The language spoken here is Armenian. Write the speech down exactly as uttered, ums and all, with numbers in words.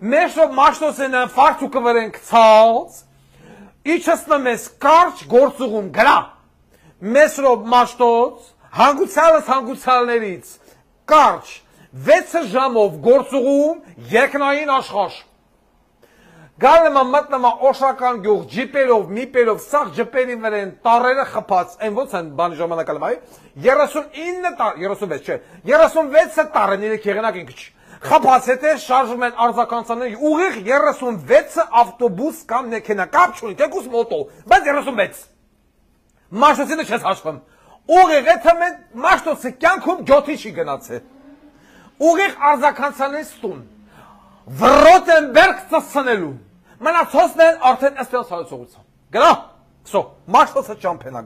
մեշով մաշտոսեն ֆարցուկը վրենք ցած, իչսնում ես կարճ գործուղում գրա, մեսրով մաշտոց, հանգուցալս հանգուցալներից, կարճ, վեց ժամով գործուղում երկնային աշխաշ, գալնեմա մտնամա օշական գյուղ, ջիպերով, միպերով, սաղ ջպերի վր են, տարերը խպած, են ոնց են բանի ժամանակալում այ, երեսունինը տար, երեսունվեց չէ, երեսունվեցը տարեն իրեք եղնակ ինք չի, խպած հետը շարժում են արձականցաների, ուղիղ երեսունվեցը ավտոբուս կամ նեքենա, կապ չունի, տեկուս մոտո, բայց երեսունվեց, մաշտոցինը չես հաշվում, ուղիղ էթը մեն մաշտոցը կյանքում գյոթի չի գնացե, ուղիղ արձականցաների ստուն, Վրոտենբերգ ծսցնելու, մնացոսն են արդեն աստեղս հարուցողության, գնա, սո, մաշտոցը ճամպենա,